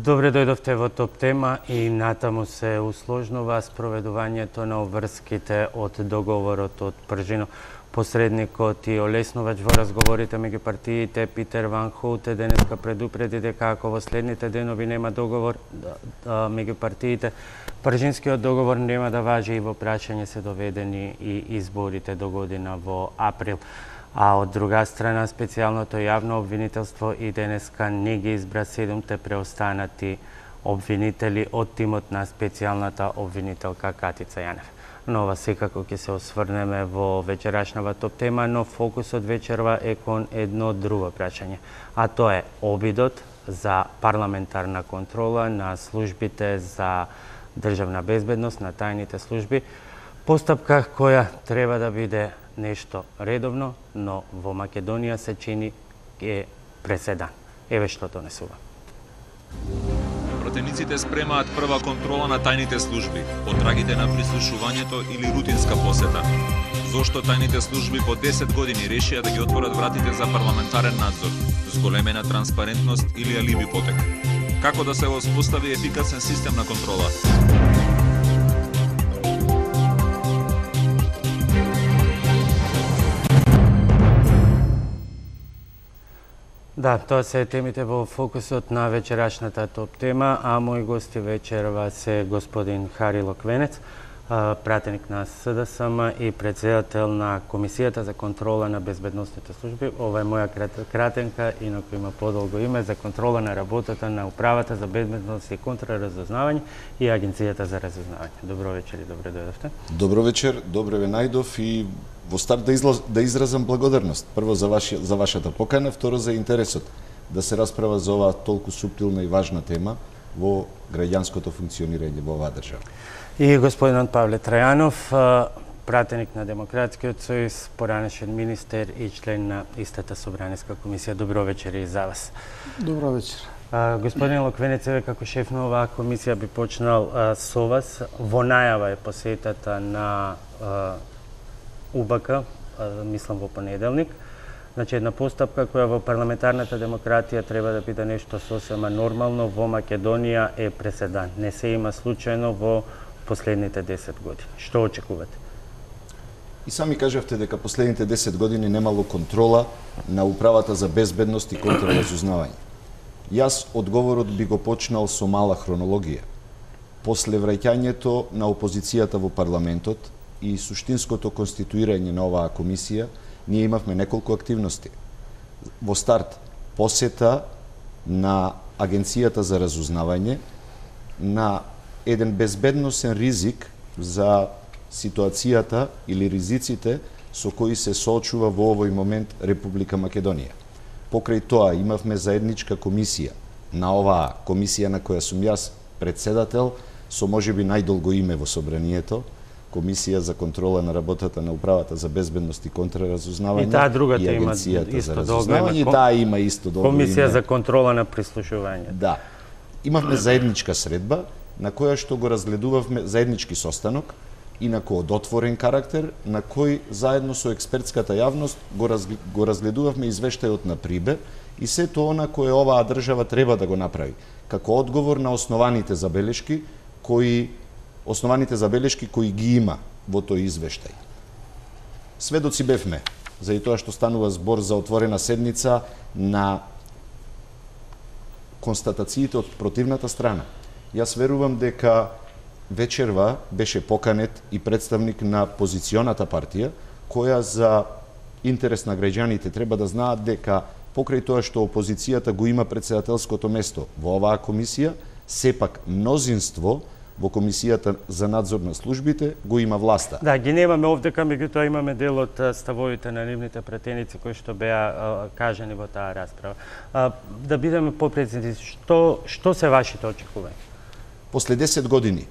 Добре дојдовте во топ тема и натаму се усложнува спроведувањето на обврските од договорот од Пржино. Посредникот и олеснувач во разговорите меѓу партиите Питер Ван Хоуте денеска предупреди дека ако во следните денови нема договор меѓу партиите, Пржинскиот договор нема да важи и во прашање се доведени и изборите до година во април. А од друга страна, специјалното јавно обвинителство и денеска не ги избра 7 преостанати обвинители од тимот на специјалната обвинителка Катица Јанев. Но ова секако ќе се осврнеме во вечерашната топ тема, но фокусот вечерва е кон едно друго прашање, а тоа е обидот за парламентарна контрола на службите за државна безбедност, на тајните служби, постапка која треба да биде нешто редовно, но во Македонија се чини е преседан. Еве што донесува. Пратениците спремаат прва контрола на тајните служби, потрагите на прислушувањето или рутинска посета. Зошто тајните служби по 10 години решија да ги отворат вратите за парламентарен надзор, зголемена транспарентност или алиби потек? Како да се воспостави ефикасен систем на контрола? Да, тоа се темите во фокусот на вечерашната топ тема, а мои гости вечерва се господин Хари Локвенец, пратеник на СДСМ и председател на Комисијата за контрола на безбедносните служби. Ова е моја кратенка, инаку има подолго име, за контрола на работата на Управата за безбедност и контраразузнавање и Агенцијата за разузнавање. Добро вечер и добре дојдовте. Добро вечер, добре ве најдов и во старт да изразам благодарност. Прво за вашата покана, второ за интересот да се расправа за оваа толку суптилна и важна тема во граѓанското функционирање во оваа држава. И господинот Павле Трајанов, пратеник на Демократскиот сојуз, поранешен министер и член на истата Собраниска комисија. Добро вечер и за вас. Добро вечер. Господин Локвенец, еве како шеф на оваа комисија би почнал со вас. Во најава е посетата на УБК, мислам во понеделник. Значи, една постапка која во парламентарната демократија треба да биде нешто сосема нормално, во Македонија е преседан. Не се има случајно во последните 10 години. Што очекувате? И сами кажавте дека последните 10 години немало контрола на Управата за безбедност и контраразузнавање. Јас одговорот би го почнал со мала хронологија. После враќањето на опозицијата во парламентот и суштинското конституирање на оваа комисија, ние имавме неколку активности. Во старт, посета на Агенцијата за разузнавање, на еден безбедносен ризик за ситуацијата или ризиците со кои се соочува во овој момент Република Македонија. Покрај тоа имавме заедничка комисија на оваа комисија на која сум јас председател, со можеби најдолго име во собранието, Комисија за контрола на работата на Управата за безбедност и контраразузнавање. И таа другата има исто долго име. И таа има исто долго име. Комисија за контрола на прислушување. Да. Имавме заедничка средба на која што го разгледувавме заеднички состанок, инаку од отворен карактер, на кој заедно со експертската јавност го разгледувавме извештајот на Прибе и сето она кое оваа држава треба да го направи, како одговор на основаните забелешки кои ги има во тој извештај. Сведоци бевме, за и тоа што станува збор за отворена седница, на констатациите од противната страна. Јас верувам дека вечерва беше поканет и представник на позиционата партија, која за интерес на граѓаните треба да знаат дека покрај тоа што опозицијата го има председателското место во оваа комисија, сепак мнозинство во Комисијата за надзор на службите го има власта. Да, ги немаме овдека, меѓутоа имаме дел од ставовите на нивните пратеници кои што беа кажани во таа расправа. Да бидеме попрецизни, што се вашите очекувања? После 10 години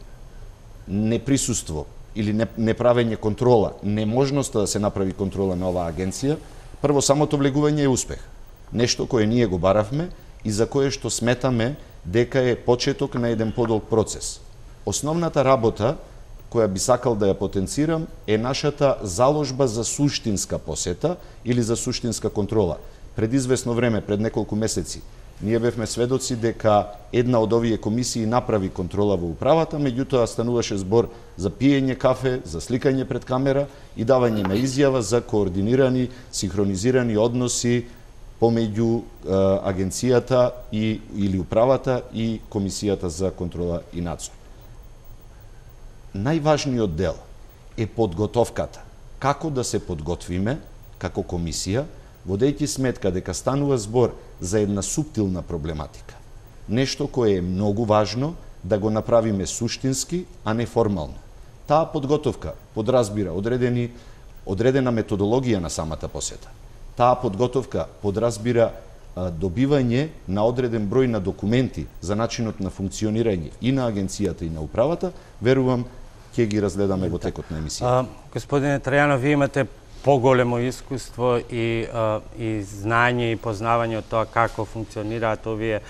неприсуство или неправење контрола, неможноста да се направи контрола на оваа агенција, прво самото влегување е успех. Нешто кое ние го баравме и за кое што сметаме дека е почеток на еден подолг процес. Основната работа, која би сакал да ја потенцирам, е нашата заложба за суштинска посета или за суштинска контрола. Пред известно време, пред неколку месеци, Ние бевме сведоци дека една од овие комисии направи контрола во управата, меѓутоа стануваше збор за пиење кафе, за сликање пред камера и давање на изјава за координирани, синхронизирани односи помеѓу агенцијата или управата и комисијата за контрола и надзор. Најважниот дел е подготовката. Како да се подготвиме како комисија, водејќи сметка дека станува збор за една суптилна проблематика. Нешто кое е многу важно да го направиме суштински, а не формално. Таа подготовка подразбира одредена методологија на самата посета. Таа подготовка подразбира добивање на одреден број на документи за начинот на функционирање и на агенцијата и на управата. Верувам, ќе ги разгледаме во текот на емисијата. Господине Трајанов, вие имате поголемо искуство и знање и познавање од тоа како функционираат овие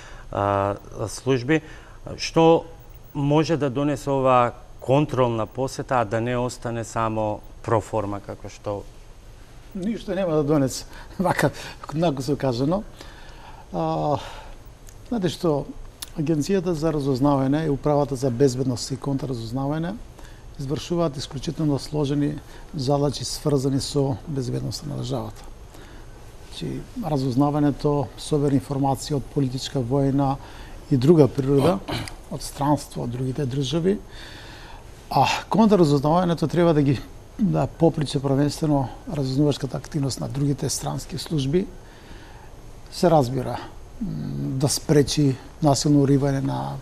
служби. Што може да донесе оваа контролна посета, а да не остане само проформа, како што... Ништо нема да донесе, вака, однако се кажано. Знаете што, Агенцијата за разузнавање и Управата за безбедност и контраразузнавање извршуваат исклучително сложени задачи сврзани со безбедноста на државата. Разузнавањето собира информации од политичка, војна и друга природа, од странство, од другите држави, а контраразузнавањето треба да попречи првенствено разузнавачката активност на другите странски служби, се разбира, да спречи насилно уривање на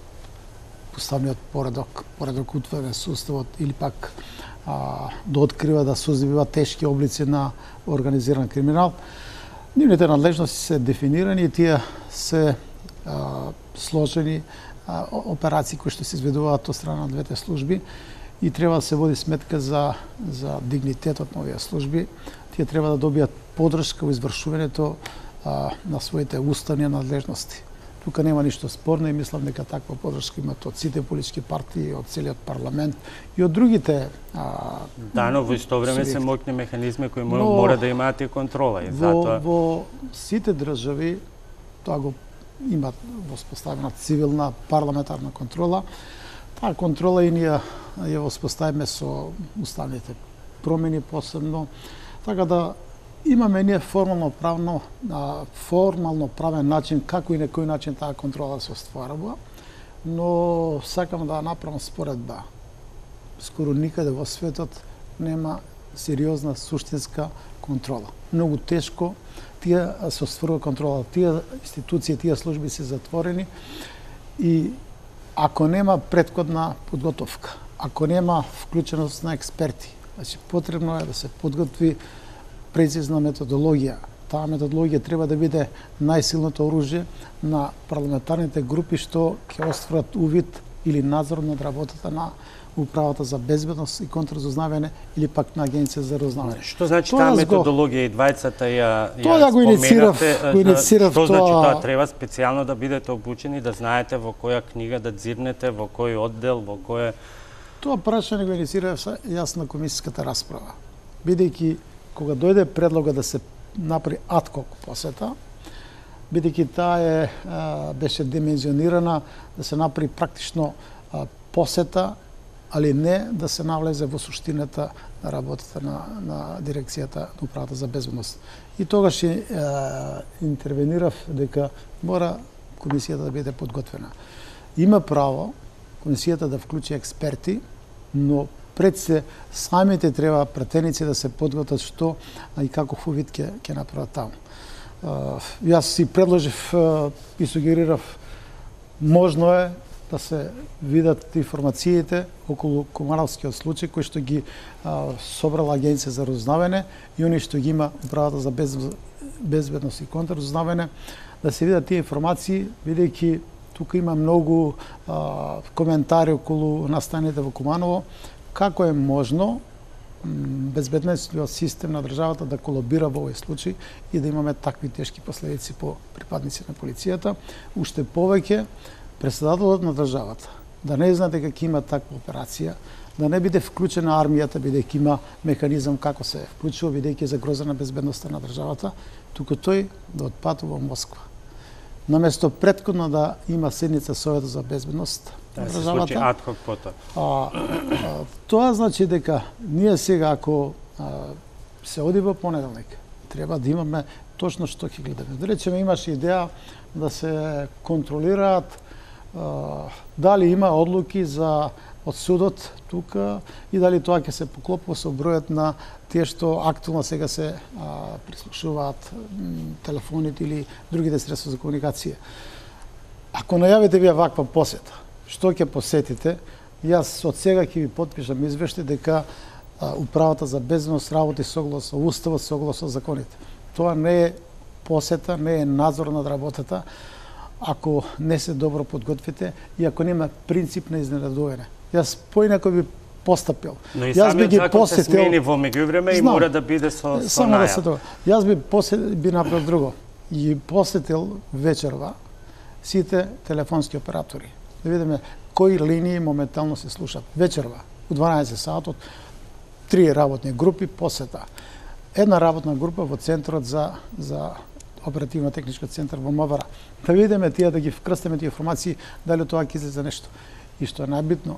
поставниот поредок утврден суставот или пак да открива, да созивува тешки облици на организиран криминал. Нивните надлежности се дефинирани и тие се сложени операции кои што се изведуваат од страна на двете служби и треба да се води сметка за дигнитетот на овие служби. Тие треба да добијат подршка во извршувањето на своите уставни надлежности. Тука нема ништо спорно и мислам дека таква подршка имат од сите политички партии, од целиот парламент и од другите но во исто време се моќни механизми кои мора да имаат и контрола. И затоа... Во сите држави тоа го имат воспоставена цивилна парламентарна контрола. Таа контрола и ние ја воспоставиме со уставните промени посебно. Така да имаме ние формално правен начин како и на кој начин таа контрола се остварува, но сакам да направам споредба. Скоро никаде во светот нема сериозна суштинска контрола. Многу тешко тие се остварува контрола. Тие институции, тие служби се затворени и ако нема претходна подготовка, ако нема вклученост на експерти, значи потребно е да се подготви прецизна методологија. Таа методологија треба да биде најсилното оружје на парламентарните групи што ќе остварат увид или надзор над работата на Управата за безбедност и контраразузнавање или пак на Агенција за разузнавање. Што значи таа методологија и двајцата ја тоа го инициирав Што значи тоа треба специјално да бидете обучени, да знаете во која книга да дзирнете, во кој оддел, во кој... Тоа прашање го инициирав јас на комисиската расправа. Бидејќи кога дојде предлога да се направи ад-хок посета, бидејќи таа беше димензионирана да се направи практично посета, али не да се навлезе во суштината на работата на дирекцијата на Управата за безбедност. И тогаш интервенирав дека мора комисијата да биде подготвена. Има право комисијата да вклучи експерти, но пред се самите треба пратеници да се подготват што и каков увид ќе направат таму. Јас си предложив и сугерирав можно е да се видат информациите околу Комаровскиот случај кој што ги собрала Агенција за разузнавање и они што ги има Управата за безбедност и контраразузнавање, да се видат тие информации, бидејќи тука има многу коментари околу настаните во Куманово, како е можно безбедносниот систем на државата да колабира во овој случај и да имаме такви тешки последици по припадници на полицијата. Уште повеќе, председателот на државата да не знае дека ќе има таква операција, да не биде вклучена армијата, бидејќи има механизам како се вклучува, бидејќи е загрозена безбедноста на државата, туку тој да отпатува во Москва. наместо претходно да има седница Советот за безбедност на Да се случи државата. адхок потоа. Тоа значи дека ние сега ако се оди во понеделник, треба да имаме точно што ќе гледаме. Да речеме имаше идеја да се контролираат дали има одлуки од судот тука и дали тоа ќе се поклопува со бројот на тие што актуелно сега се прислушуваат телефоните или другите средства за комуникација. Ако најавите вие ваква посета, што ќе посетите, јас од сега ќе ви потпишам извештај дека Управата за безбедност работи согласно уставот, согласно законите. Тоа не е посета, не е надзор над работата, ако не се добро подготвите и ако нема принцип на изненадување. Јас поинако би постапил. Но и Јас би самиот ги закон се посетил смени во меѓувреме и мора да биде со само да се најава. тоа. Јас би направил друго. И посетил вечерва сите телефонски оператори. Да видиме кои линии моментално се слушат. Вечерва, у 12 саатот, 3 работни групи посета. Една работна група во центарот за оперативно технички центар во МВР. Да видиме тие, да ги вкрстиме тие информации, дали тоа ќе излезе нешто. И што е најбитно,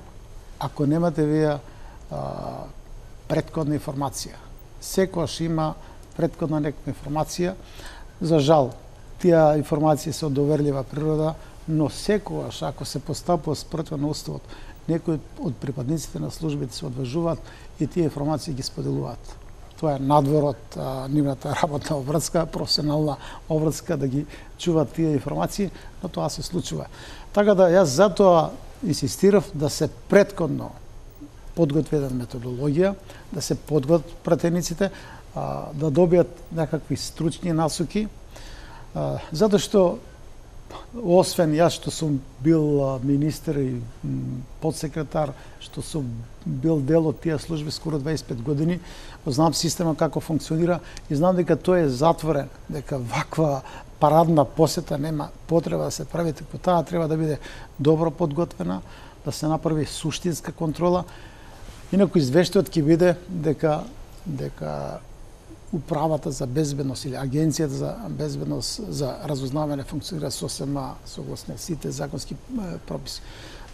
ако немате вие претходна информација, секогаш има претходна некаква информација, за жал, тие информации се од доверлива природа, но секогаш, ако се постапува спротивно на уставот, некои од припадниците на службите се одважуваат и тие информации ги споделуваат. Тоа е надвор од нивната работна обврска, професионална обврска да ги чуваат тие информации, но тоа се случува. Така да јас затоа инсистирав да се претходно подготви една методологија, да се подготват пратениците, да добијат некакви стручни насоки, затоа што освен јас што сум бил министер и подсекретар, што сум бил дел од тие служби скоро 25 години, знам система како функционира и знам дека тој е затворен, дека ваква парадна посета нема потреба да се прави, така таа треба да биде добро подготвена, да се направи суштинска контрола. Инаку извештајот ќе биде дека Управата за безбедност или Агенцијата за безбедност за разузнавање функционира сосема согласно сите законски прописи.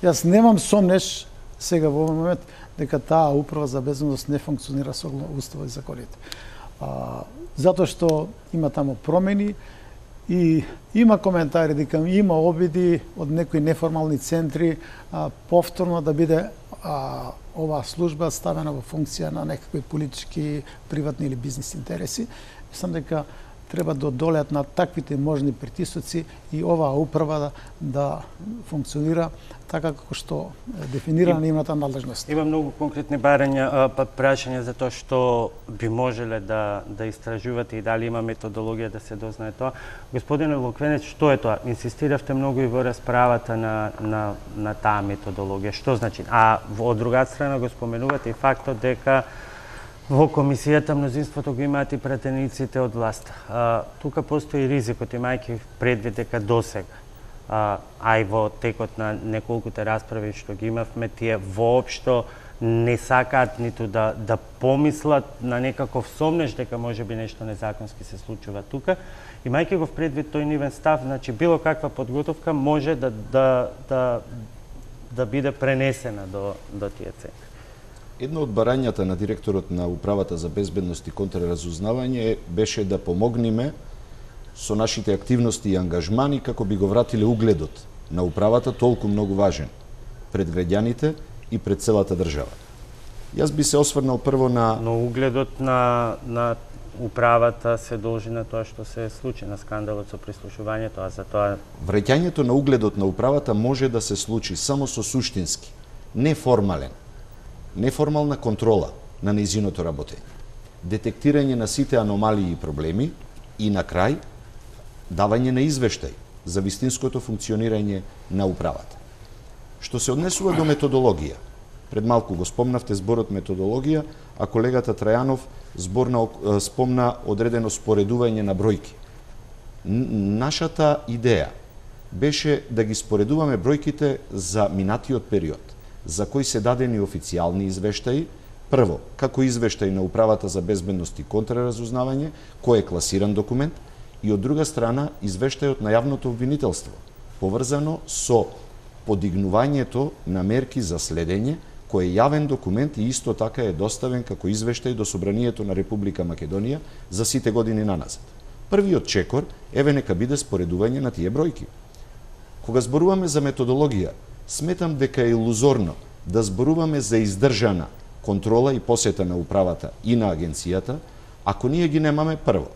Јас немам сомнеш сега во овој момент дека таа Управа за безбедност не функционира согласно уставот и законите. Затоа што има таму промени и има коментари дека има обиди од некои неформални центри повторно да биде оваа служба ставена во функција на некакви политички, приватни или бизнес интереси. Мислам дека треба да одолеат на таквите можни притисоци и оваа управа да функционира така како што дефинирана нивната надлежност. Има многу конкретни прашања за тоа што би можеле да истражувате и дали има методологија да се дознае тоа. Господине Луквенец, што е тоа? Инсистиравте многу и во расправата на таа методологија. Што значи? А од друга страна го споменувате и фактот дека во комисијата мнозинството го имаат и пратениците од власт. Тука постои ризикот, имајќи предвид дека досега, а и во текот на неколкуте расправи што ги имавме, тие воопшто не сакаат ниту да помислат на некаков сомнеш дека може би нешто незаконски се случува тука. Имајќи го предвид тој нивен став, значи било каква подготовка може да биде пренесена до тие центри. Едно од барањата на директорот на Управата за безбедност и контраразузнавање беше да помогнеме со нашите активности и ангажмани како би го вратиле угледот на управата, толку многу важен пред граѓаните и пред целата држава. Јас би се осврнал прво на... Но угледот на управата се должи на тоа што се случи, на скандалот со прислушувањето, а за тоа... Враќањето на угледот на управата може да се случи само со суштински, неформална контрола на нејзиното работење, детектирање на сите аномалии и проблеми и на крај давање на извештај за вистинското функционирање на управата. Што се однесува до методологија, пред малку го спомнавте зборот методологија, а колегата Трајанов спомна одредено споредување на бројки. Нашата идеја беше да ги споредуваме бројките за минатиот период, за кои се дадени официјални извештаи, прво, како извештај на Управата за безбедност и контраразузнавање, кој е класиран документ, и од друга страна извештајот на јавното обвинителство, поврзано со подигнувањето на мерки за следење, кој е јавен документ и исто така е доставен како извештај до Собранието на Република Македонија за сите години наназад. Првиот чекор, еве нека биде споредување на тие бројки. Кога зборуваме за методологија, сметам дека е илузорно да зборуваме за издржана контрола и посета на управата и на агенцијата, ако ние ги немаме прво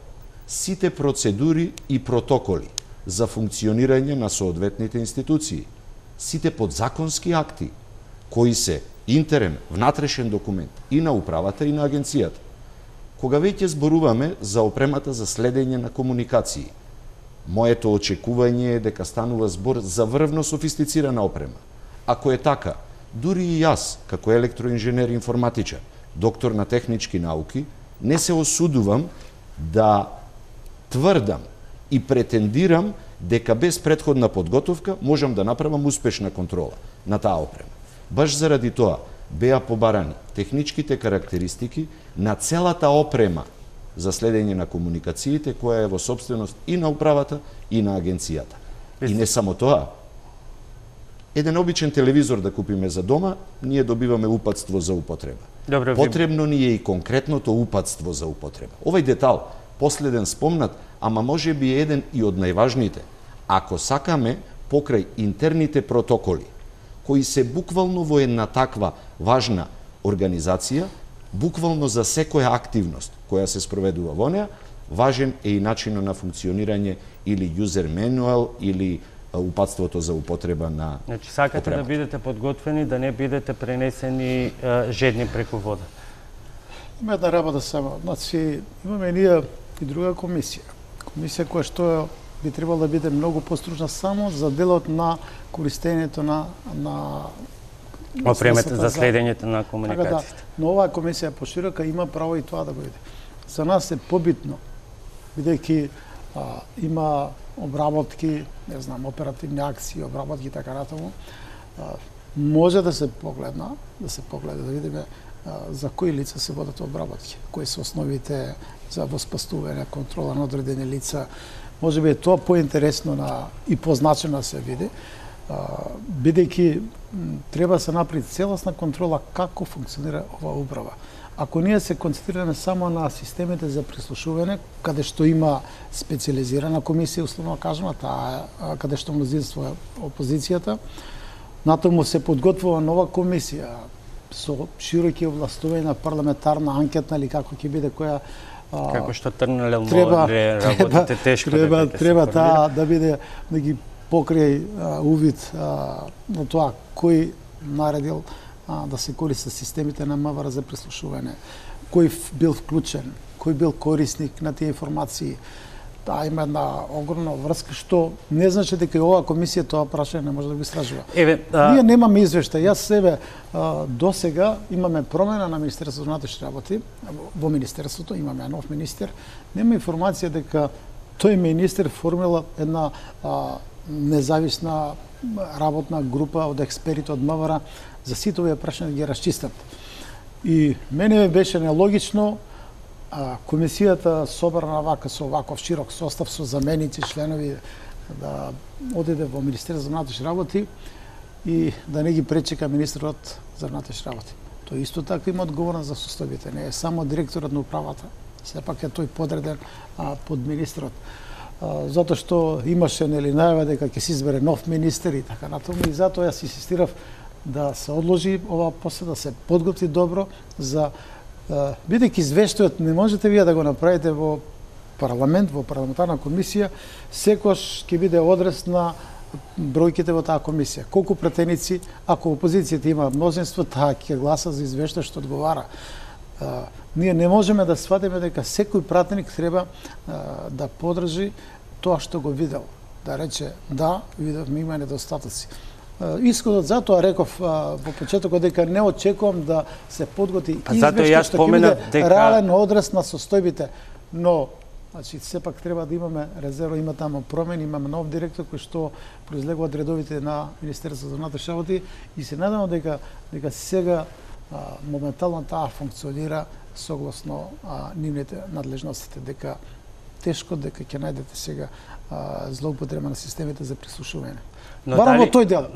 сите процедури и протоколи за функционирање на соодветните институции, сите подзаконски акти кои се интерен, внатрешен документ и на управата и на агенцијата. Кога веќе зборуваме за опремата за следење на комуникации, моето очекување е дека станува збор за врвно софистицирана опрема. Ако е така, дури и јас, како електроинженер информатичар, доктор на технички науки, не се осудувам да тврдам и претендирам дека без претходна подготовка можам да направам успешна контрола на таа опрема. Баш заради тоа беа побарани техничките карактеристики на целата опрема за следење на комуникациите, која е во собственост и на управата и на агенцијата. И не само тоа. Еден обичен телевизор да купиме за дома, ние добиваме упатство за употреба. Добре, потребно ни е и конкретното упатство за употреба. Овој детал, последен спомнат, ама може би еден и од најважните. Ако сакаме покрај интерните протоколи, кои се буквално во една таква важна организација, буквално за секоја активност која се спроведува во неа, важен е и начинот на функционирање или user manual или упатството за употреба на Значи сакате опремата. да бидете подготвени, да не бидете пренесени жедни преку вода. Има една работа само. Значи, имаме ние и друга комисија. Комисија која што би требало да биде многу постружна само за делот на користењето на Опремата за следењето на Така да, комуникациите. но оваа комисија поширока има право и тоа да го биде. За нас е побитно, бидејќи има обработки, не знам, оперативни акции, обработки и така натаму, може да се погледа, да видиме за кои лица се водат обработки, кои се основите за воспастување, контрола на одредени лица. Може би е тоа поинтересно и позначено да се види, бидејќи треба да се направи целосна контрола како функционира оваа управа. Ако ние се концентрираме само на системите за прислушување, каде што има специализирана комисија, условно кажано, каде што мнозинство е опозицијата, натаму се подготвува нова комисија со широки овластувања на парламентарна анкетна или како ќе биде која Како што трнелел работите тешко треба таа да биде да ги покрај увид на тоа кој наредил да се користи системите на МВР за прислушување, кој бил вклучен, кој бил корисник на тие информации. Таа има една огромна врска што не значи дека и оваа комисија тоа прашање не може да го истражува. Ние немаме извештај. Јас себе досега имаме промена на Министерството на внатрешни работи. Во Министерството имаме нов министер. Нема информација дека тој министер формира една независна работна група од експерти од МВР за сите овие прашања да ги расчистат. И мене беше нелогично комисијата собрана вака со ваков широк состав со заменици, членови да одиде во Министерството за внатрешни работи и да не ги пречека министерот за внатрешни работи. Тој исто така има одговорност за составите, не е само директорот на управата, сепак е тој подреден под министерот. Затоа што имаше најава дека ќе се избере нов министер и така натаму, и затоа јас инсистирав да се одложи оваа посета, да се подготви добро за бидејќи извештајот не можете вие да го направите во парламент, во парламентарна комисија, секојаш ќе биде одрез на бројките во таа комисија. Колку претеници, ако опозицијата има мнозинство, таа ќе гласа за извештај што одговара. Ние не можеме да сватиме дека секој пратеник треба да подржи тоа што го видел. Да рече, да, видовме има недостатоци. Исходот затоа реков во почетокот дека не очекувам да се подготви извештај што ќе биде реален одрез на состојбите, но значи сепак треба да имаме резерва, има таму промени, имаме нов директор кој што произлегува од редовите на Министерството за внатрешни работи и се надевам дека сега моментално таа функционира согласно нивните надлежностите, дека тешко дека ќе најдете сега злоупотреба на системите за прислушување. Но Барам дали, во тој дел.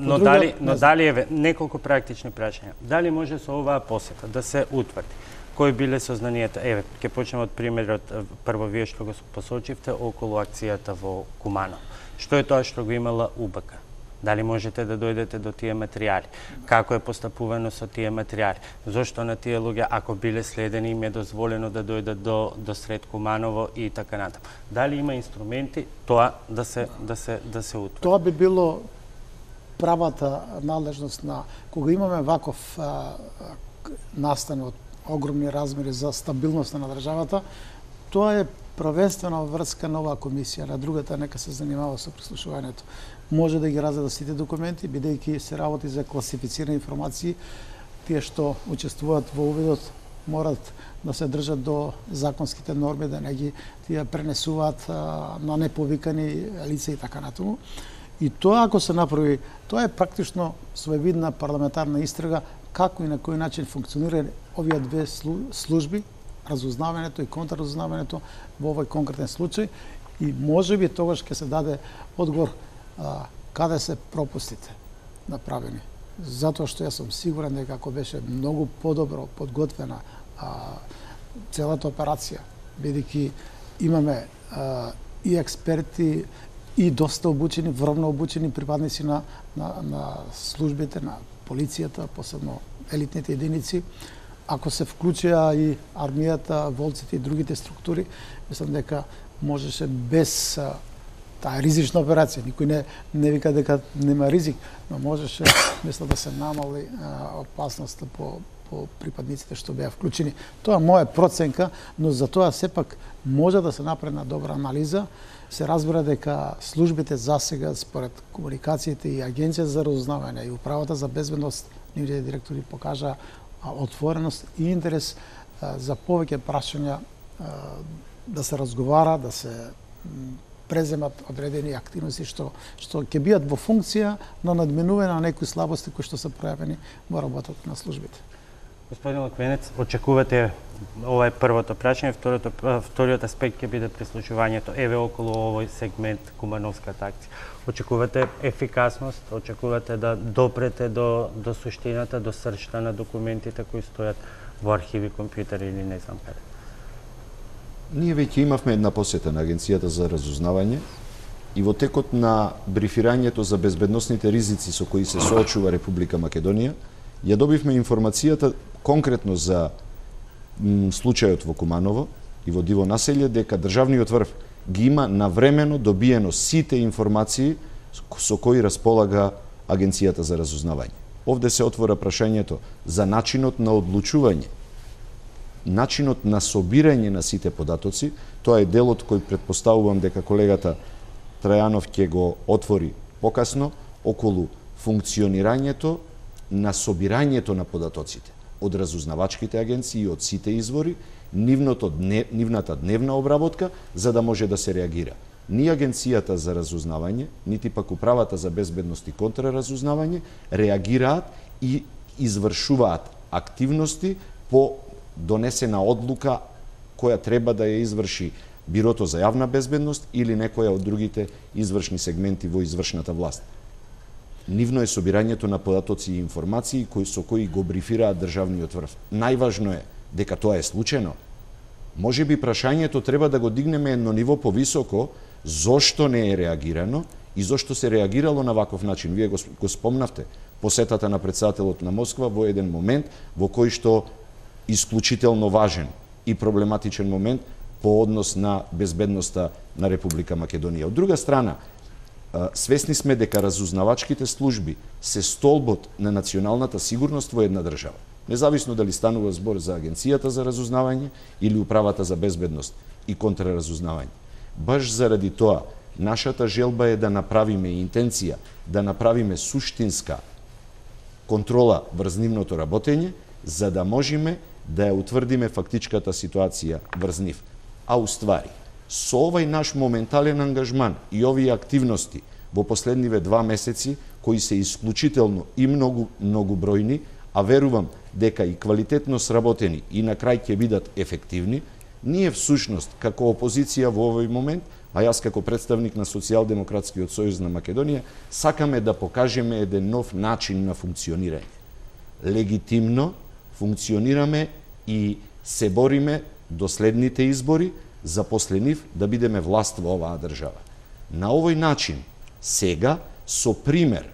но дали еве неколку практични прашања. Дали може со оваа посета да се утврди кои биле сознанијата? Еве, ќе почнеме од примерот прво вие што го посочивте околу акцијата во Куманово. Што е тоа што го имала УБК? Дали можете да дојдете до тие материјали? Како е постапувано со тие материјали? Зошто на тие луѓе, ако биле следени, им е дозволено да дојдат до сред Куманово и така натаму? Дали има инструменти тоа да се утврди? Тоа би било правата надлежност на кога имаме ваков настан од огромни размери за стабилноста на државата, тоа е првенствено врска на оваа комисија, на другата нека се занимава со прислушувањето. Може да ги разгледа сите документи, бидејќи се работи за класифицирани информации, тие што учествуваат во увидот морат да се држат до законските норми, да не ги тие пренесуваат на неповикани лица и така натаму. И тоа ако се направи, тоа е практично своевидна парламентарна истрага како и на кој начин функционира овие две служби, разузнавањето и контраразузнавањето во овој конкретен случај, и можеби тогаш ќе се даде одговор каде се пропустите направени. Затоа што јас сум сигурен дека ако беше многу подобро подготвена целата операција, бидејќи имаме и експерти и доста обучени, вровно обучени припадници на службите, на полицијата, посебно елитните единици, ако се вклучија и армијата, волците и другите структури, мислам дека можеше без таа ризична операција, никој не вика дека нема ризик, но можеше, мислам, да се намали опасноста по припадниците што беа вклучени. Тоа моја проценка, но за тоа сепак може да се направи една добра анализа. Се разбира дека службите засега, според комуникациите и Агенција за разузнавање и Управата за безбедност, нивните директори покажа отвореност и интерес за повеќе прашања да се разговара, да се преземат одредени активности што ќе бидат во функција на надминување на некои слабости кои што се пројавени во работата на службите. Господин Лаквенец, очекувате, ова е првото прашање, вториот аспект ќе биде прислушувањето еве околу овој сегмент Кумановската акција. Очекувате ефикасност, очекувате да допрете до суштината, до сршта на документите кои стојат во архиви, компјутери или не знам каде? Ние веќе имавме една посета на Агенцијата за разузнавање и во текот на брифирањето за безбедносните ризици со кои се соочува Република Македонија, ја добивме информацијата конкретно за случајот во Куманово и во Диво населје, дека државниот врв ги има навремено добиено сите информации со кои располага Агенцијата за разузнавање. Овде се отвора прашањето за начинот на одлучување, начинот на собирање на сите податоци. Тоа е делот кој претпоставувам дека колегата Трајанов ќе го отвори покасно околу функционирањето на собирањето на податоците од разузнавачките агенции и од сите извори, нивната дневна обработка, за да може да се реагира. Ни Агенцијата за разузнавање, нити пак Управата за безбедност и контраразузнавање реагираат и извршуваат активности по донесена одлука која треба да ја изврши Бирото за јавна безбедност или некоја од другите извршни сегменти во извршната власт. Нивно е собирањето на податоци и информации со кои го брифираат државниот врв. Најважно е дека тоа е случајно. Можеби прашањето треба да го дигнеме едно ниво повисоко, зошто не е реагирано и зошто се реагирало на ваков начин. Вие го спомнавте посетата на претседателот на Москва во еден момент во кој што исклучително важен и проблематичен момент по однос на безбедноста на Република Македонија. Од друга страна, свесни сме дека разузнавачките служби се столбот на националната сигурност во една држава. Независно дали станува збор за Агенцијата за разузнавање или Управата за безбедност и контраразузнавање. Баш заради тоа, нашата желба е да направиме интенција, да направиме суштинска контрола врз нивното работење, за да можеме да ја утврдиме фактичката ситуација врз нив. А уствари, со овај наш моментален ангажман и овие активности во последниве 2 месеци, кои се исклучително и многу бројни, а верувам дека и квалитетно сработени и на крај ќе бидат ефективни, Ние всушност, како опозиција во овој момент, а јас како представник на Социјалдемократскиот сојуз на Македонија, сакаме да покажеме еден нов начин на функционирање. Легитимно функционираме и се бориме до следните избори за после нив да бидеме власт во оваа држава. На овој начин, сега, со пример,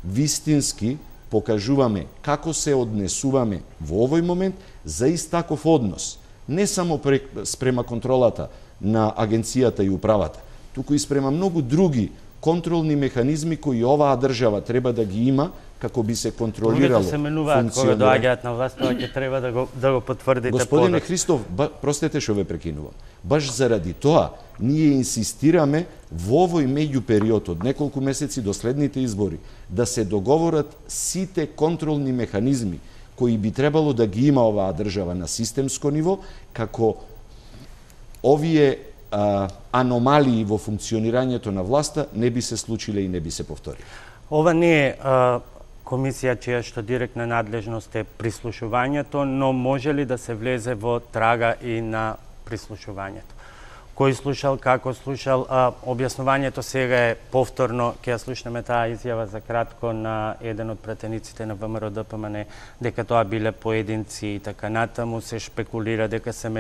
вистински покажуваме како се однесуваме во овој момент за ист таков однос, не само спрема контролата на агенцијата и управата, туку и спрема многу други контролни механизми кои оваа држава треба да ги има како би се контролирало се менуваат кога доаѓаат на власт, тоа ќе треба да го потврдите. Господине Христов, простете што ве прекинувам. Баш заради тоа ние инсистираме во овој меѓупериод од неколку месеци до следните избори да се договорат сите контролни механизми кои би требало да ги има оваа држава на системско ниво, како овие аномалии во функционирањето на власта не би се случиле и не би се повториле. Ова не е комисија чија што директна надлежност е прислушувањето, но може ли да се влезе во трага и на прислушувањето? Кој слушал, како слушал, објаснувањето сега е повторно, ќе ја слушнеме таа изјава за кратко на еден од пратениците на ВМРО ДПМН, дека тоа биле поединци и така натаму, се шпекулира дека се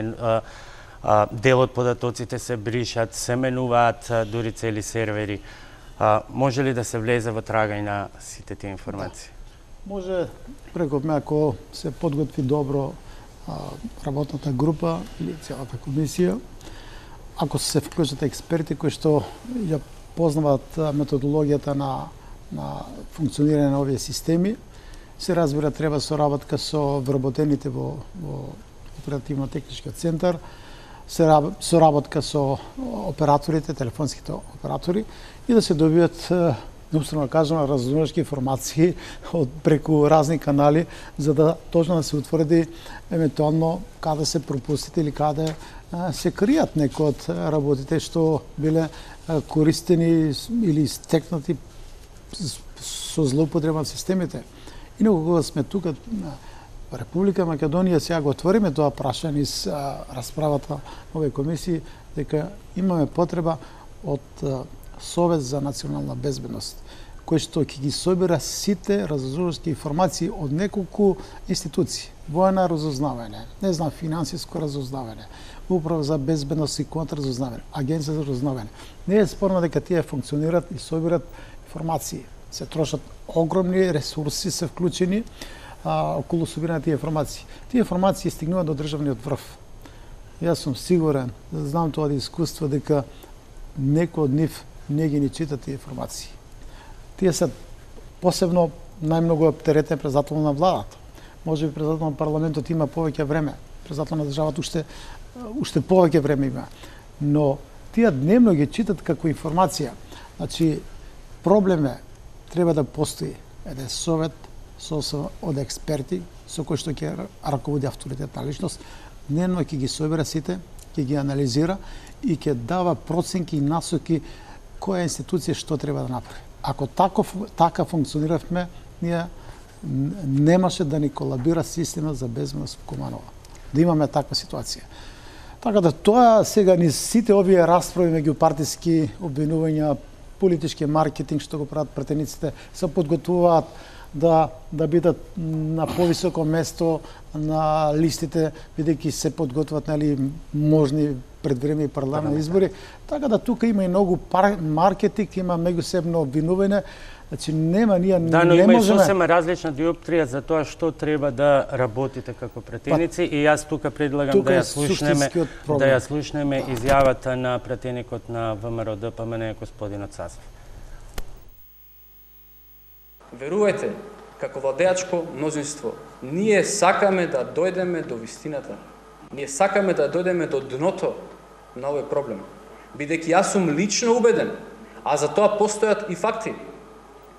дел од податоците се бришат, се менуваат дури цели сервери. Може ли да се влезе во трага и на сите тие информации? Да. Може, реков ме, ако се подготви добро работната група или целата комисија, ако се вклучат експерти кои што ја познаваат методологијата на функционирање на овие системи, се разбира треба соработка со вработените во оперативно-техничкиот центар, соработка со операторите, телефонските оператори и да се добијат, неуствено кажам, разумнички информации преку разни канали, за да точно да се утврди евентуално каде се пропустите или каде се кријат некои од работите што биле користени или стекнати со злоупотреба на системите. Инаку кога сме тука Република Македонија, сега го отвориме тоа прашање из расправата на овие комисии, дека имаме потреба од Совет за национална безбедност, кој што ќе ги собира сите разузнавачки информации од неколку институции. Воена разузнавање, не знам, финансиско разузнавање, Управа за безбедност и контраразузнавање, Агенција за разузнавање. Не е спорно дека тие функционираат и собират информации. Се трошат огромни ресурси, се вклучени околу собирање тие информации. Тие информации стигнуваат до државниот врв. Јас сум сигурен, знам тоа од искуство, дека некој од нив не ги ни чита тие информации. Тие се посебно најмногу оптеретен председател на владата. Може би председател на парламентот има повеќе време, председател на државата уште повеќе време има. Но тие дневно ги читат како информација. Значи, проблем е, треба да постои еден совет од експерти со кој што ќе раководи авторитетна личност, дневно ќе ги собира сите, ќе ги анализира и ќе дава проценки и насоки која институција што треба да направи. Ако така функциониравме, ние немаше да ни колабира система за безбедност во Куманова. Да имаме таква ситуација. Така да тоа сега ни сите овие расправи меѓу партиски обвинувања, политички маркетинг што го прават пратениците, се подготвуваат да бидат на повисоко место на листите, бидејќи се подготват можни предвремени парламентни избори. Така да тука има и многу маркетинг, има меѓусебно обвинување. Значи нема, ние не можеме... Да, но има и сосема различна диоптрија за тоа што треба да работите како пратеници и јас тука предлагам да ја слушнеме изјавата на пратеникот на ВМРО ДПМН господинот Сасов. Верувајте, како владеачко мнозинство, ние сакаме да дојдеме до вистината. Ние сакаме да дојдеме до дното на овој проблем. Бидејќи јас сум лично убеден, а за тоа постојат и факти,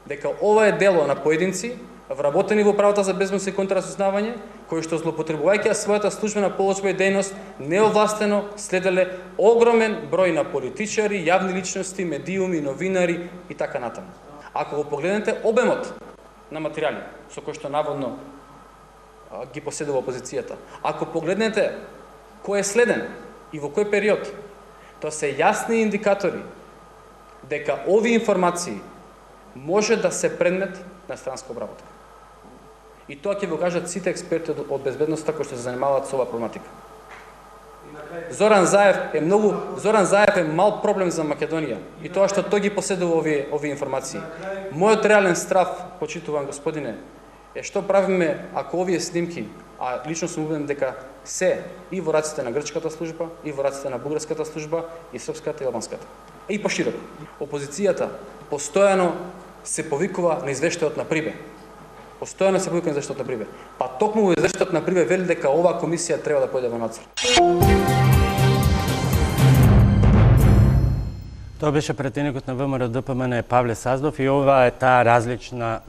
дека ова е дело на поединци, вработени во правата за безбедност и контраразузнавање, кои што злоупотребувајќи својата службена положба и дејност, неовластено следеле огромен број на политичари, јавни личности, медиуми, новинари и така натаму. Ако го погледнете обемот на материјали со кои што наводно ги поседува опозицијата, ако погледнете кој е следен и во кој период. Тоа се јасни индикатори дека овие информации може да се предмет на странска обработка. И тоа ќе го кажат сите експерти од безбедноста кои што се занимаваат со оваа проблематика. Зоран Заев е мал проблем за Македонија и тоа што тој ги поседува овие информации. Мојот реален страв, почитуван господине, е што правиме ако овие снимки, а лично сум убеден дека се и во раците на грчката служба, и во раците на бугарската служба, и српската и албанската. И пошироко. Опозицијата постојано се повикува на извештајот на Прибе. Постојано се повикува на извештајот на Прибе. Па токму во извештајот на Прибе вели дека оваа комисија треба да појде во надзор. Тоа беше претеникот на ВМРО-ДПМН Павле Саздов и ова е таа различна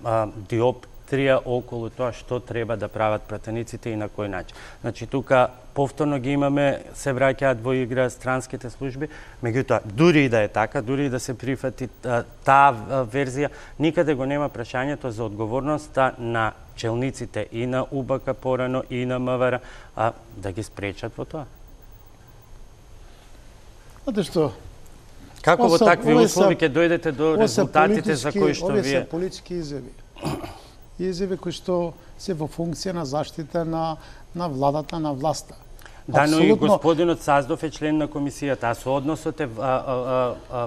диоптрија околу тоа што треба да прават пратениците и на кој начин. Значи тука повторно ги имаме, се враќаат во игра странските служби, меѓутоа дури и да е така, дури и да се прифати таа верзија, никаде го нема прашањето за одговорноста на челниците и на УБК порано и на МВР да ги спречат во тоа. Знаете што? Како во такви услови ќе дојдете до резултатите за кои што вие... вие... Овие се политички изјави. Изјави кои што се во функција на заштита на владата, на власта. Да, но и господинот Саздов е член на комисијата, а со односот е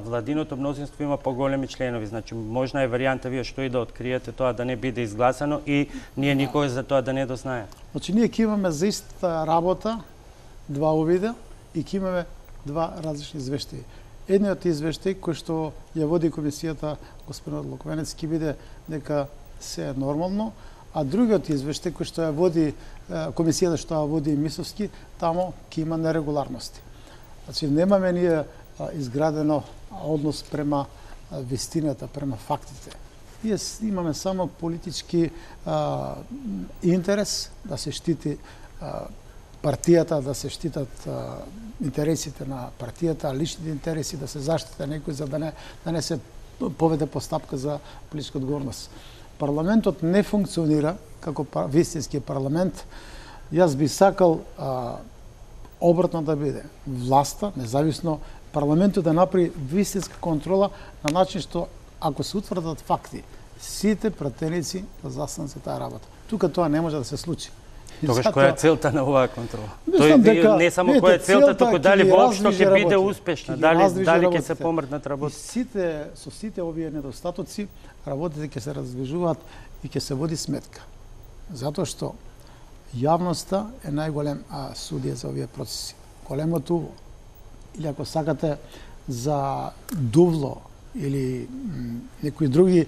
владиното мнозинство има поголеми членови. Значи, можна е варијанта вие што и да откриете тоа да не биде изгласано и ние никој за тоа да не дознае. Значи, ние ќе имаме за иста работа два увида и ќе имаме два различни извештаи. Едниот извештај кој што ја води комисијата господинот Луквенец ќе биде дека се е нормално, а другиот извештај кој што ја води комисијата што ја води Мисовски, тамо ќе има нерегуларности. Значи немаме ние изградено однос према вистината, према фактите. Ние имаме само политички интерес да се штити партијата, да се штитат интересите на партијата, личните интереси, да се заштита некој за да не се поведе постапка за политичка одговорност. Парламентот не функционира како вистински парламент. Јас би сакал обратно да биде. Власта, независно, парламентот да направи вистинска контрола на начин што ако се утврдат факти, сите пратеници да застанат за таа работа. Тука тоа не може да се случи. Тогаш која е целта на оваа контрола? Тој не само која е целта, туку дали воопшто ќе биде успешна, дали ќе се помрднат работите. Со сите овие недостатоци, работите ќе се раздвижуваат и ќе се води сметка. Затоа што јавноста е најголем судија за овие процеси. Големото уво, или ако сакате за Дувло или некои други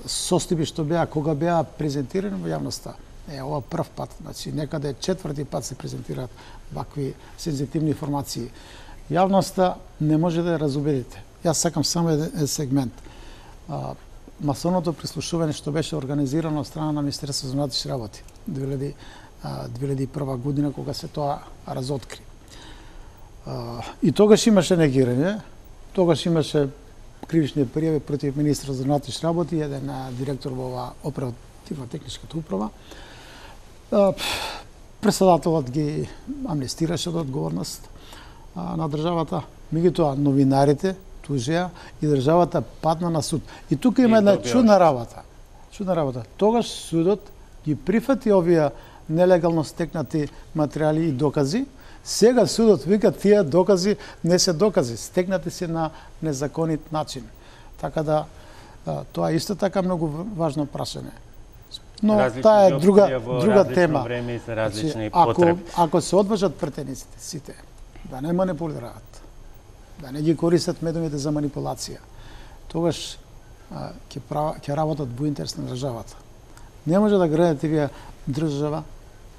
состојби што беа кога беа презентирани во јавноста. Ова прв пат, значи некаде четврти пат се презентираат вакви сензитивни информации. Јавноста не може да ја разубедите. Јас сакам само еден сегмент. Масоното прислушување што беше организирано од страна на Министерството за внатрешни работи 2001 година кога се тоа разоткри. И тогаш имаше негирање, тогаш имаше кривични пријави против министерот за внатрешни работи и еден директор во оваа оперативно-техничката управа. Председателот ги амнестираше од одговорност на државата, меѓутоа новинарите тужеа и државата падна на суд. И тука има една чудна работа. Тогаш судот ги прифати овие нелегално стекнати материјали и докази. Сега судот вика тие докази не се докази, стекнати се на незаконит начин. Така да тоа исто така многу важно прашање. Но таа е друга тема. Ако се одважат претениците сите, да не манипулираат, да не ги користат медиумите за манипулација, тогаш ќе работат во интерес на државата. Не може да градите вие држава,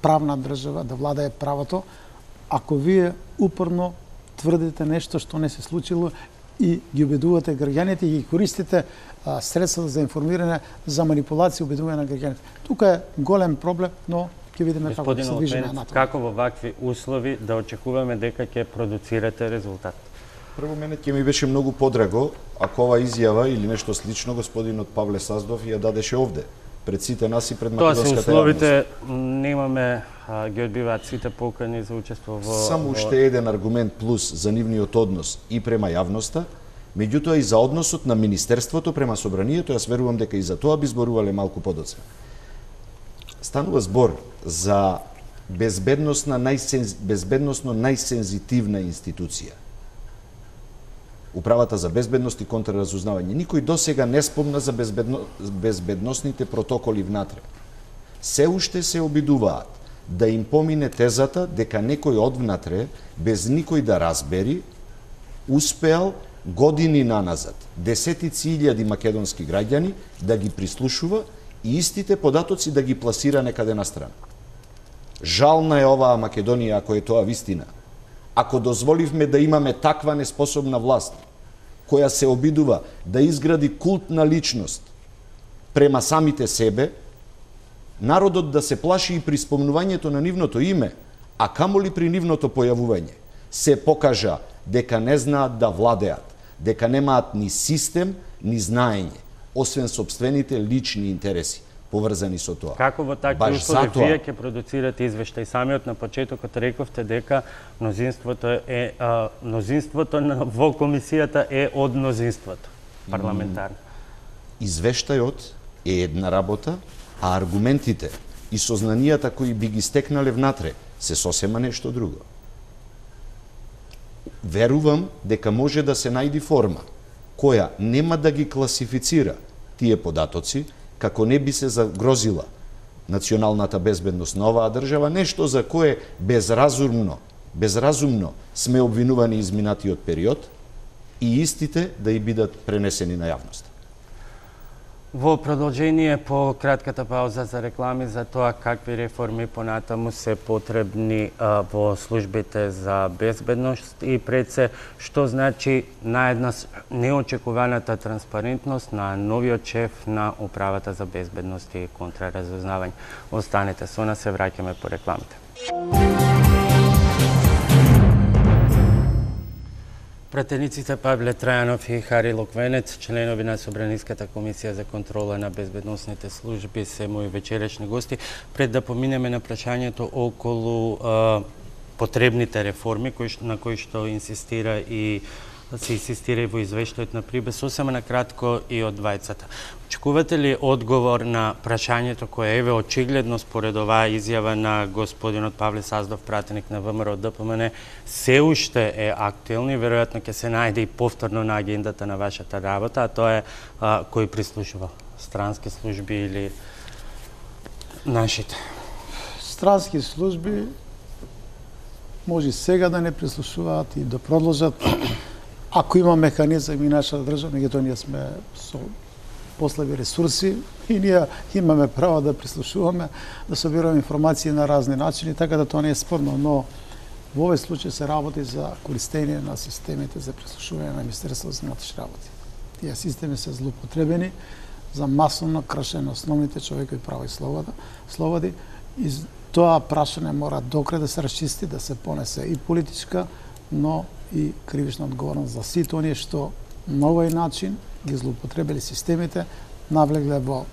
правна држава, да владае правото, ако вие упорно тврдите нешто што не се случило и ги убедувате граѓаните и ги користите средства за информирање, за манипулација, убедување на граѓаните. Тука е голем проблем, но ќе видиме како се движиме натаму. Како во вакви услови да очекуваме дека ќе продуцирате резултат? Прво, мене ќе ми беше многу подраго ако ова изјава или нешто слично господинот Павле Саздов ја дадеше овде, пред сите нас и пред Тоа се македонската условите, немаме, ги одбиваат сите покани за учество во... Само уште еден аргумент плюс за нивниот однос и према јавноста, меѓутоа и за односот на Министерството према Собранието, јас верувам дека и за тоа би зборувале малку подоцна. Станува збор за безбедносно најсензитивна институција. Управата за безбедност и контраразузнавање. Никој досега не спомна за безбедносните протоколи внатре. Се уште се обидуваат да им помине тезата дека некој одвнатре, без никој да разбери, успеал години наназад, десетици илјади македонски граѓани да ги прислушува и истите податоци да ги пласира некаде на страна. Жална е оваа Македонија ако е тоа вистина. Ако дозволивме да имаме таква неспособна власт, која се обидува да изгради култна личност према самите себе, народот да се плаши и при спомнувањето на нивното име, а камоли при нивното појавување, се покажа дека не знаат да владеат, дека немаат ни систем, ни знаење, освен собствените лични интереси поврзани со тоа. Како во такви услови вие ќе продуцирате извештај? Самиот на почетокот рековте дека мнозинството во комисијата е од мнозинството парламентарно. Извештајот е една работа, а аргументите и сознанијата кои би ги стекнале внатре се сосема нешто друго. Верувам дека може да се најди форма која нема да ги класифицира тие податоци, како не би се загрозила националната безбедност на оваа држава, нешто за кое безразумно сме обвинувани изминатиот период и истите да и бидат пренесени на јавност. Во продолжение по кратката пауза за реклами за тоа какви реформи понатаму се потребни во службите за безбедност и пред се што значи наеднаш неочекуваната транспарентност на новиот шеф на Управата за безбедност и контраразузнавање. Останете со нас, се враќаме по рекламите. Пратениците Павле Трајанов и Хари Локвенец, членови на Собраниската комисија за контрола на безбедносните служби, се мои вечерашни гости. Пред да поминеме на прашањето околу потребните реформи на кои што инсистира и се инсистира и во извештајот на Прибе, сосема на кратко и од двајцата. Очекувате ли одговор на прашањето кое еве очигледно според оваа изјава на господинот Павле Саздов, пратеник на ВМРО ДПМН, се уште е актуелно и веројатно ќе се најде и повторно на агендата на вашата работа, а тоа е кој прислушува? Странски служби или нашите? Странски служби може сега да не прислушуваат и да продолжат. Ако има механизам и нашата држава, меѓутоа ние сме со послаби ресурси и ние имаме право да прислушуваме, да собираме информации на разни начини, така да тоа не е спорно, но во овој случај се работи за користење на системите за прислушување на Министерството за внатрешни работи. Тие системи се злоупотребени за масовно кршење на основните човекови права и слободи и тоа прашање мора докрај да се расчисти, да се понесе и политичка, но и кривична одговорност за сите оние што на овој начин ги злоупотребили системите, навлегле во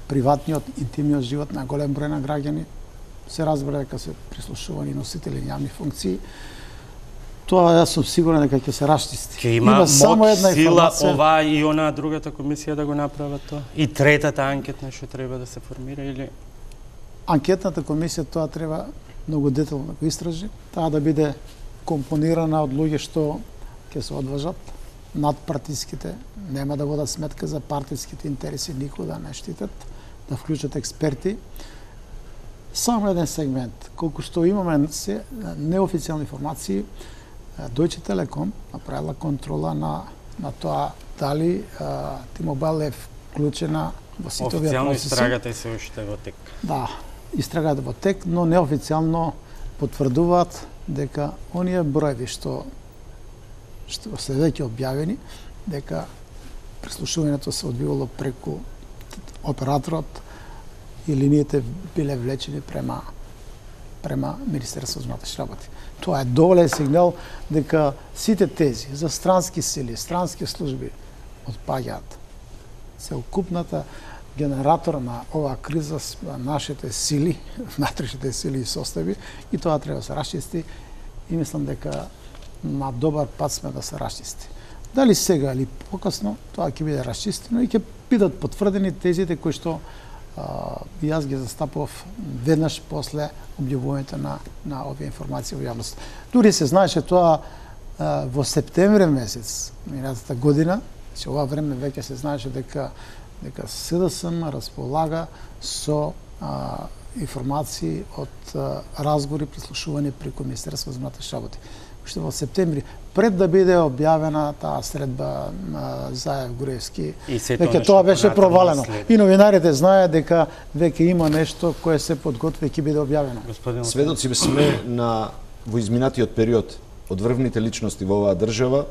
приватниот, интимниот живот на голем број на граѓани, се разбира дека се прислушувани носители јавни функции. Тоа јас сум сигурен дека ќе се расчисти. Ќе има само една сила оваа и она другата комисија да го направат тоа? И третата анкетна што треба да се формира или? Анкетната комисија тоа треба многу детално да го истражи, таа да биде компонирана од луѓе што ќе се одважат над партиските, нема да водат сметка за партиските интереси, никога не штитат, да вклучат експерти. Само еден сегмент, колку што имаме неофицијални информации, Deutsche Telekom направила контрола на тоа дали T-Mobile е вклучена во сите овие процеси. Официјално истрагата е се уште во тек. Да, истрагата во тек, но неофицијално потврдуваат дека оние броеви што се веќе објавени, дека прислушувањето се одвивало преку операторот и линиите биле влечени према Министерството за внатрешни работи. Тоа е доволен сигнал дека сите тези за странски сили, странски служби отпаѓаат. Целокупната генератор на оваа криза нашите сили, внатрешните сили и состави, и тоа треба да се расчисти, и мислам дека на добар пат сме да се расчисти. Дали сега или покасно, тоа ќе биде расчистено и ќе бидат потврдени тезите кои што и јас ги застапував веднаш после објавувањето на овие информации во јавност. Дури се знаеше тоа во септември месец минатата година, че ова време веќе се знаеше дека СДСМ располага со информации од разговори, прислушување преку Министерство за внатрешни работи. Уште во септември, пред да биде објавена таа средба Заев Груевски, веќе тоа беше провалено. И новинарите знаеат дека веќе има нешто кое се подготви и ќе биде објавено. Сведоци сме во изминатиот период од врвните личности во оваа држава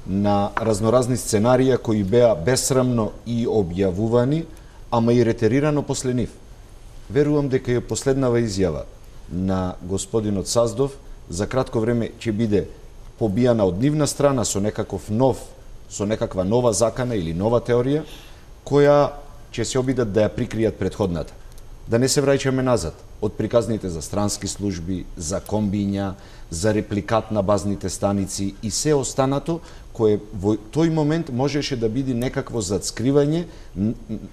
на разноразни сценарија кои беа бесрамно и објавувани, ама и ретерирано после нив. Верувам дека и последнава изјава на господинот Саздов за кратко време ќе биде побијана од нивна страна со некаква нова закана или нова теорија, која ќе се обидат да ја прикријат претходната. Да не се враќаме назад од приказните за странски служби, за комбиња, за репликат на базните станици и се останато, кое во тој момент можеше да биде некакво зацкривање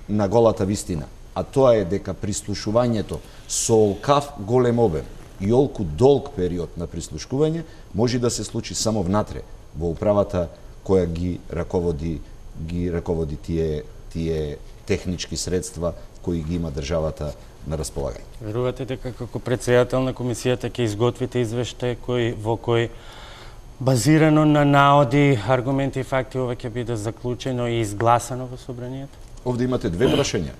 на голата вистина. А тоа е дека прислушувањето со олкав голем обем и олку долг период на прислушкување може да се случи само внатре, во управата која ги раководи тие технички средства кои ги има државата на располагање. Верувате дека како претседател на комисијата ќе изготвите извештај во кој базирано на наоди, аргументи и факти ова ќе биде заклучено и изгласано во собранието? Овде имате две прашања.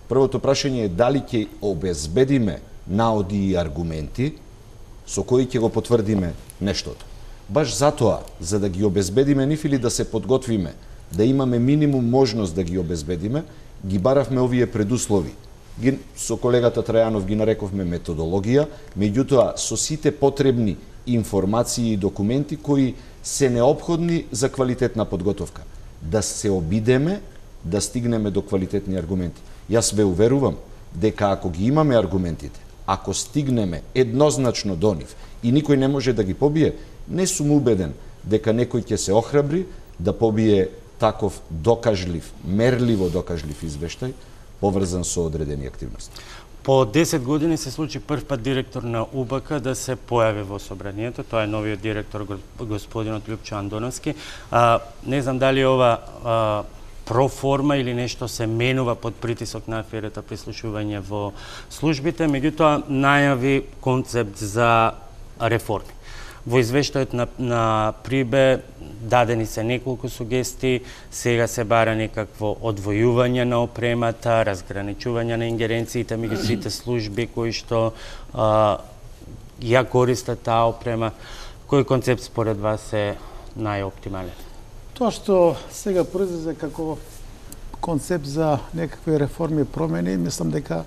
Првото прашање е дали ќе обезбедиме наоди и аргументи со кои ќе го потврдиме нештото. Баш затоа, за да ги обезбедиме нив или да се подготвиме, да имаме минимум можност да ги обезбедиме, ги баравме овие предуслови. Со колегата Трајанов ги нарековме методологија, меѓутоа со сите потребни информации и документи кои се неопходни за квалитетна подготовка. Да се обидеме да стигнеме до квалитетни аргументи. Јас ве уверувам дека ако ги имаме аргументите, ако стигнеме еднозначно до нив и никој не може да ги побие, не сум убеден дека некој ќе се охрабри да побие таков докажлив, мерливо докажлив извештај поврзан со одредени активности. По 10 години се случи прв пат директор на УБК да се појави во собранието. Тоа е новиот директор господинот Лјупчо Андоновски. Не знам дали ова проформа или нешто се менува под притисок на аферата прислушување во службите, меѓутоа најави концепт за реформи. Во извештајот на Прибе дадени се неколку сугестии, сега се бара некакво одвојување на опремата, разграничување на ингеренциите меѓу сите служби кои што ја користат таа опрема. Кој концепт според вас е најоптимален? Тоа што сега произлезе како концепт за некакви реформи и промени, мислам дека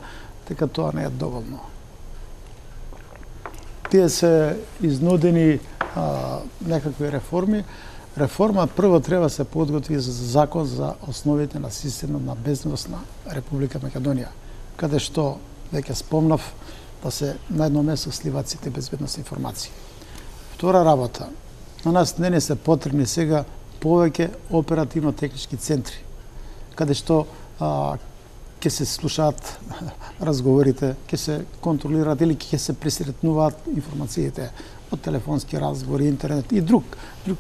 тоа не е доволно. Тие се изнудени некакви реформи. Реформа прво треба се подготви за закон за основите на системот на безбедност на Република Македонија, каде што веќе спомнав да се на едно место сливаат сите безбедностни информации. Втора работа, на нас не се потребни сега повеќе оперативно-технички центри, каде што ќе се слушаат разговорите, ќе се контролираат или ќе се пресретнуваат информациите од телефонски разговори, интернет и друг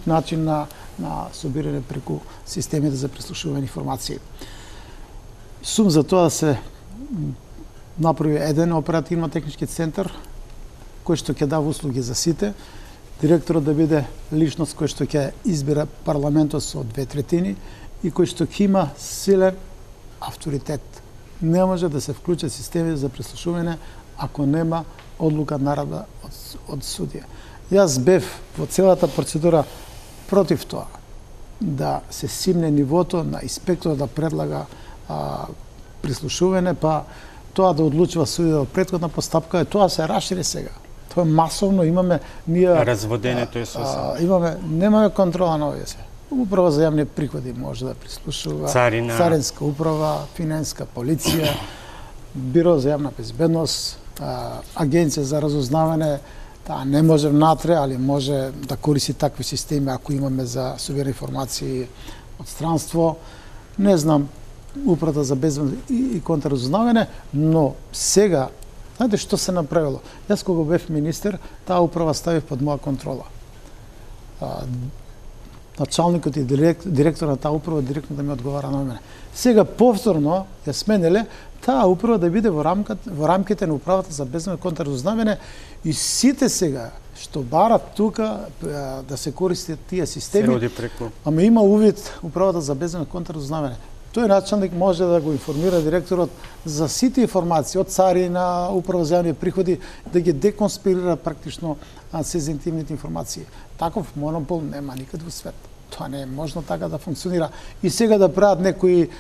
начин на собирање преку системите за прислушување информации. Сум за тоа да се направи еден оперативно-технички центар кој што ќе дава услуги за сите, директорот да биде личност кој што ќе избира парламентот со 2/3 и кој што ќе има силен авторитет. Не може да се вклучат системи за прислушување ако нема одлука наредба од судија. Јас бев во целата процедура против тоа да се симне нивото на инспекторот да предлага прислушување, па тоа да одлучува судија во претходна постапка, и тоа се расшири сега. Тоа е масовно, имаме ние разводењето е сосема. Немаме контрола на овие се. Управа за јавни приходи може да прислушува, Царинска управа, Финанска полиција, Биро за јавна безбедност, Агенција за разузнавање, не може внатре, али може да користи такви системи ако имаме за собиране информации од странство. Не знам, Управата за безбедност и контраразузнавање, но сега, знаете што се направило? Јас кога бев министер, таа управа ставив под моја контрола. Началникот и директор на таа управа директно да ми одговара на мене. Сега повторно ја сменеле таа управа да биде во рамките на Управата за безбедност и контраразузнавање и сите сега што барат тука да се користат тие системи, ама има увид Управата за безбедност и контраразузнавање. Тој началник може да го информира директорот за сите информации од царина, Управа за јавни приходи, да ги деконспирира практично сензитивните информации. Таков монопол нема никаде во свет. Тоа не е можно така да функционира. И сега да прават некои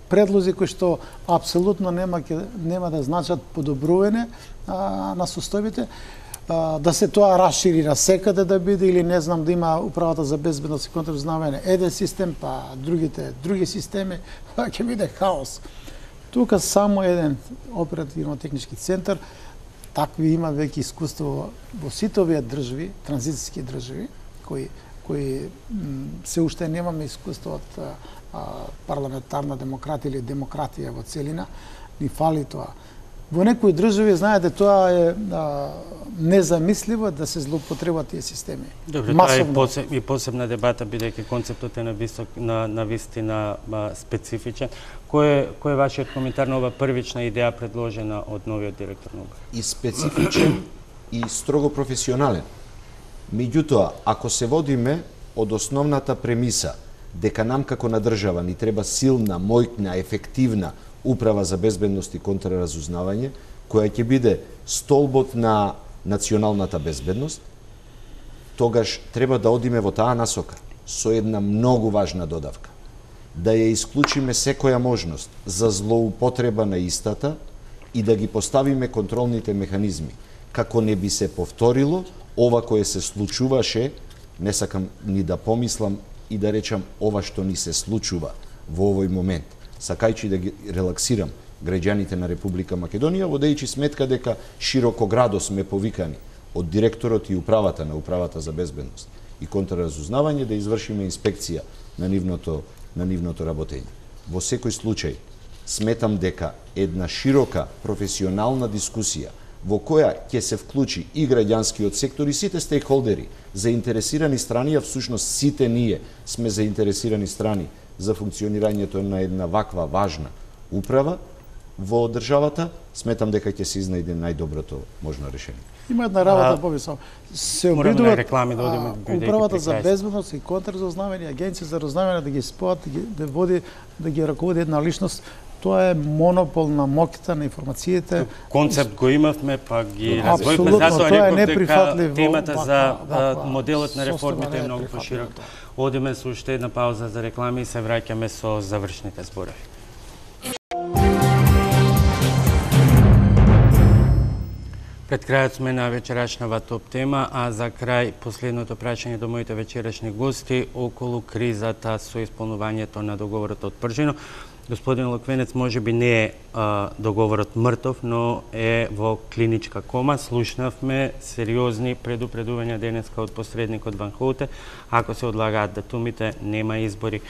предлози кои што апсолутно нема да значат подобрување на состојбите, да се тоа расшири на секаде да биде или не знам да има Управата за безбедност и контраразузнавање еден систем, па другите други системи, тоа ќе биде хаос. Тука само еден оперативно-технички центар, такви има веќе искуство во сите овие држави, транзицијски држави, кои се уште немаме искуство од парламентарна демократија или демократија во целина, ни фали тоа. Во некои држави, знаете, тоа е незамисливо да се злоупотребат тие системи. Добре, тоа е и посебна дебата, бидејќи концептот е на вистина специфичен. Кој е вашиот коментар на ова првична идеја предложена од новиот директор на УБ? И специфичен и строго професионален. Меѓутоа, ако се водиме од основната премиса дека нам како на држава ни треба силна, мојна, ефективна Управа за безбедност и контраразузнавање, која ќе биде столбот на националната безбедност, тогаш треба да одиме во таа насока со една многу важна додавка. Да ја исклучиме секоја можност за злоупотреба на истата и да ги поставиме контролните механизми, како не би се повторило ова кое се случуваше, не сакам ни да помислам и да речам ова што ни се случува во овој момент, сакајќи да ги релаксирам граѓаните на Република Македонија, водејќи сметка дека широкоградо сме повикани од директорот и управата на Управата за безбедност и контраразузнавање да извршиме инспекција на нивното работење. Во секој случај, сметам дека една широка професионална дискусија во која ќе се вклучи и граѓанскиот сектор и сите стейкхолдери, заинтересирани страни, а всушност сите ние сме заинтересирани страни за функционирањето на една ваква важна управа во државата, сметам дека ќе се изнајде најдоброто можно решение. Има една работа повисока. Се обидуваат Управата за безбедност и контраразузнавање, Агенција за разузнавање да ги споат, да ги раководи една личност. Тоа е монопол на моќта на информациите. Концепт го имавме, па ги развојме, затоа реков дека темата за моделот на реформите е многу поширок. Одиме со уште една пауза за реклами и се враќаме со завршните зборови. Пред крајот сме на вечерашнава топ тема, а за крај последното прашање до моите вечерашни гости околу кризата со исполнувањето на договорот од Пржино. Господин Луквенец, може би не е договорот мртов, но е во клиничка кома. Слушнавме сериозни предупредувања денеска од посредникот Ван Хоуте. Ако се одлагаат датумите, нема избори.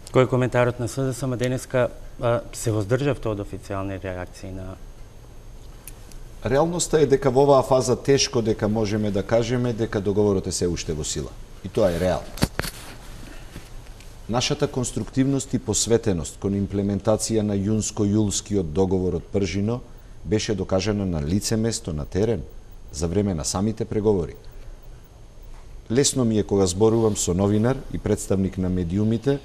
Кој е коментарот на СДСМ денеска се воздржавте од официјални реакции на... Реалноста е дека во оваа фаза тешко дека можеме да кажеме дека договорот е се уште во сила. И тоа е реалност. Нашата конструктивност и посветеност кон имплементација на јунско-јулскиот договор од Пржино беше докажана на лице место, на терен, за време на самите преговори. Лесно ми е кога зборувам со новинар и представник на медиумите,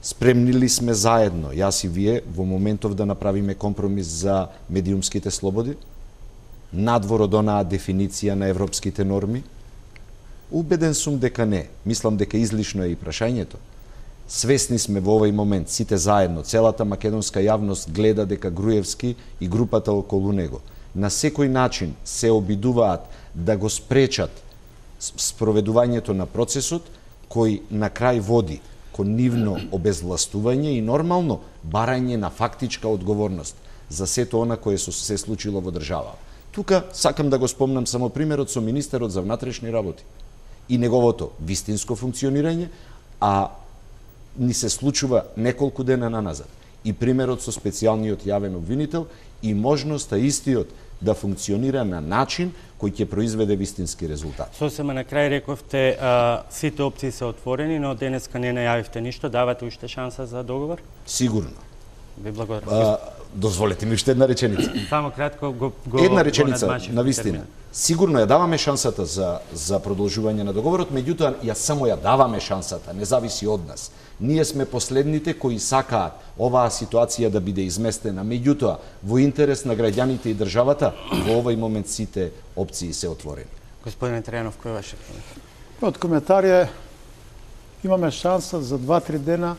спремни ли сме заедно, јас и вие, во моментов да направиме компромис за медиумските слободи, надвор од онаа дефиниција на европските норми? Убеден сум дека не. Мислам дека излишно е и прашањето. Свесни сме во овој момент, сите заедно, целата македонска јавност гледа дека Груевски и групата околу него на секој начин се обидуваат да го спречат спроведувањето на процесот кој на крај води кон нивно обезвластување и нормално барање на фактичка одговорност за сето она кое се случило во држава. Тука сакам да го спомнам само примерот со министерот за внатрешни работи и неговото вистинско функционирање, а ни се случува неколку дена наназад. И примерот со специјалниот јавен обвинител и можноста истиот да функционира на начин кој ќе произведе вистински резултат. Сосема на крај рековте, сите опции се отворени, но денеска не најавивте ништо. Давате уште шанса за договор? Сигурно. Ви благодарам. Дозволете ми уште една реченица. Само кратко го една реченица, надмашив на вистина. термин. Сигурно ја даваме шансата за продолжување на договорот, меѓутоа ја само ја даваме шансата, не зависи од нас. Ние сме последните кои сакаат оваа ситуација да биде изместена, меѓутоа во интерес на граѓаните и државата во овој момент сите опции се отворени. Господине Трајанов, кој е вашиот коментар? Од коментар е, имаме шанса за 2-3 дена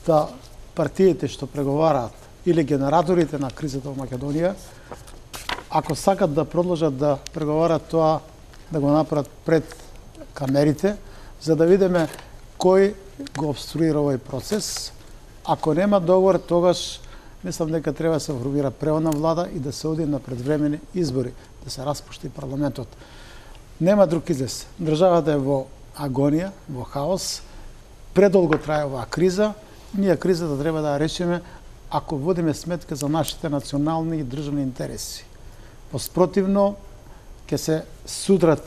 да партиите што преговараат или генераторите на кризата во Македонија, ако сакат да продолжат да преговарат тоа, да го направат пред камерите, за да видиме кој го обструира овој процес. Ако нема договор, тогаш мислам дека треба да се формира преводна влада и да се оди на предвремени избори, да се распушти парламентот. Нема друг излез. Државата е во агонија, во хаос. Предолго трае оваа криза. Ние кризата треба да ја решиме ако водиме сметка за нашите национални и државни интереси. Поспротивно, ќе се судрат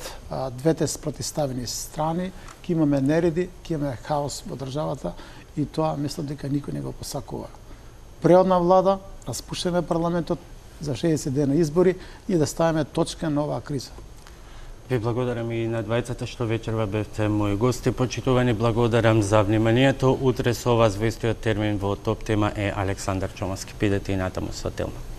двете спротиставени страни, ќе имаме нереди, ќе имаме хаос во државата и тоа мислам дека никој не го посакува. Преводна влада, распуштеме парламентот за 60 дена избори и да ставиме точка на оваа криза. Ви благодарам и на двајцата што вечерва бевте мои гости. Почитувани, благодарам за вниманието. Утре со вас во истиот термин во Топ тема е Александар Чомаски. Пидете и натаму со Телма.